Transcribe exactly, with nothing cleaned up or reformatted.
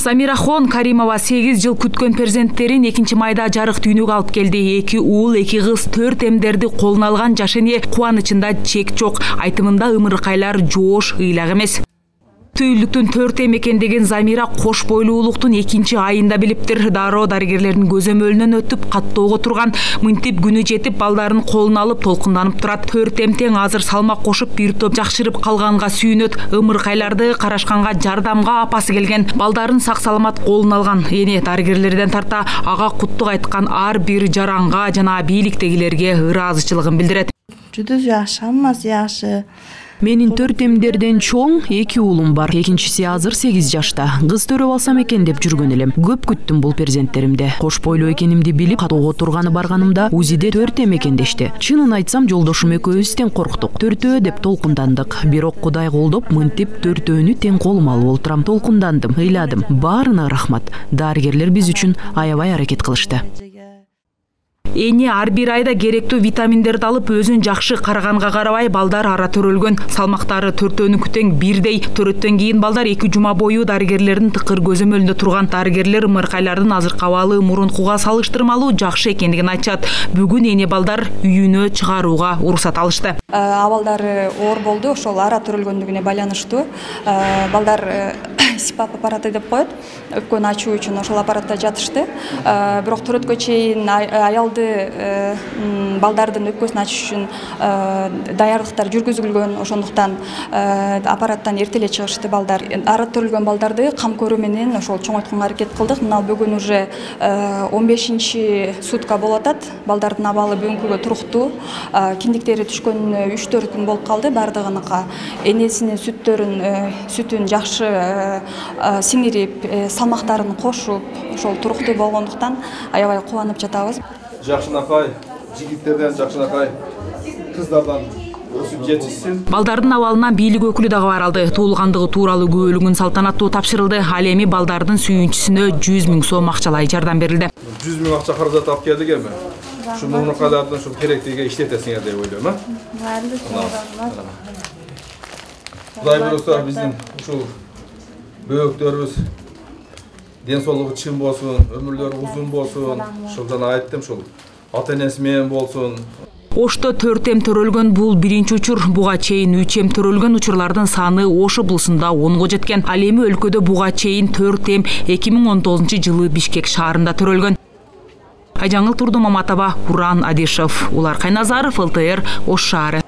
Замирахон Каримова сегиз жыл күткөн перзенттерин экинчи майда жарык дүйнөгө алып келди. Эки уул, эки кыз төрт эмдерди колуна алган жаш эне кубанычында чек жок. Айтымында ымыркайлар жоош, ыйлак эмес. Түйүлдүктүн төрт эм экендигин Замира кош бойлуулуктун экинчи айында билиптир. Дароо дарыгерлердин көзөмөлүнөн өтүп, каттоого турган. Мынтип күнү жетип, балдарын колуна алып толкунданып турат. Төрт эм тең азыр салмак кошуп, бир топ жакшырып калганга сүйүнөт. Ымыркайларды карашканга жардамга апасы келген. Балдарын сак саламат колуна алган. Эне дарыгерлерден тарта ага куттук айткан ар бир жаранга жана бийликтегилерге ыраазычылыгын билдирет. Жүдү жакшы, аммасы жакшы. Менин төрт эмдерден чоң эки уулум бар. Экинчиси азыр сегиз жашта. Кыз төрөп алсам экен деп жүргөн элем. Көп күттүм бул перзенттеримди. Кош бойлуу экенимди билип, каттоого турганы барганымда УЗИде төрт эм экен дешти. Чынын айтсам, жолдошум экөөбүз тең корктук. Төртөө деп толкундандык. Бирок Кудай колдоп, мынтип төртөөнү тең колума алып олтурам. Толкундандым, ыйладым. Баарына рахмат. Дарыгерлер биз үчүн аябай аракет кылышты. Эне ар бир айда керектүү витаминдерди алып, өзүн жакшы караганга карабай, балдар ара төрөлгөн. Салмактары төртөөнүкү тең бирдей. Төрөттөн кийин балдар эки жума бою дарыгерлердин тыкыр көзөмөлүндө турган. Дарыгерлер ымыркайлардын азыркы абалы мурункуга салыштырмалуу жакшы экендигин айтышат. Бүгүн эне балдар үйүнө чыгарууга уруксат алышты. Абалдары оор болду, ошол ара төрөлгөндүгүнө байланыштуу. Балдар сипап аппараты деп коет. Өпкөнү ачуу үчүн ошол аппаратта жатышты. Бирок төрөткө чейин аялды балдардын өпкөсүн ачыш үчүн даярдыктар жүргүзүлгөн. Ошондуктан аппараттан эрте эле чыгышты балдар. Ара төрөлгөн балдарды кам көрүү менен ошол чоңойтконго аракет кылдык. Мына бүгүн уже он бешинчи сутка болуп атат. Балдардын абалы бүгүнкүгө туруктуу. Киндиктери түшкөнүнө үч төрт күн болуп калды бардыгыныкка. Энесинин сүттөрүн сүтүн жакшы сиңирип, салмактарын кошуп, ошол туруктуу болгондуктан аябай кубанып жатабыз. Жакшынакай, жигиттерден жакшынакай, кыздардан өсүп жетишсин. Балдардын абалынан бийлик өкүлү дагы баралды. Туулгандыгы тууралуу күбөлүгүн салтанаттуу тапшырылды. Ал эми балдардын сүйүнчүсүнө жүз миң сом акчалай жардам берилди. жүз миң акча каражат алып келдик эми. Ушу мунукалардын ушу керектиге иштетесиңер деп ойлойм, а? Кудай буюрса биздин ушул бөөктөрүбүз ден соолугу чың болсун, өмүрлөрү узун болсун. Ушул жана айттым, ушул ата энеси менен болсун. Ошто төрт эм төрөлгөн бул биринчи учур. Буга чейин үч эм төрөлгөн учурлардын саны Ош облусунда онго жеткен. Ал эми өлкөдө буга чейин төрт эм эки миң он тогузунчу жылы Бишкек шаарында төрөлгөн. Айжаңыл Турдумаматова, Уран Адишев, Улар Кайназаров, эл тэ эр, Ош шаары.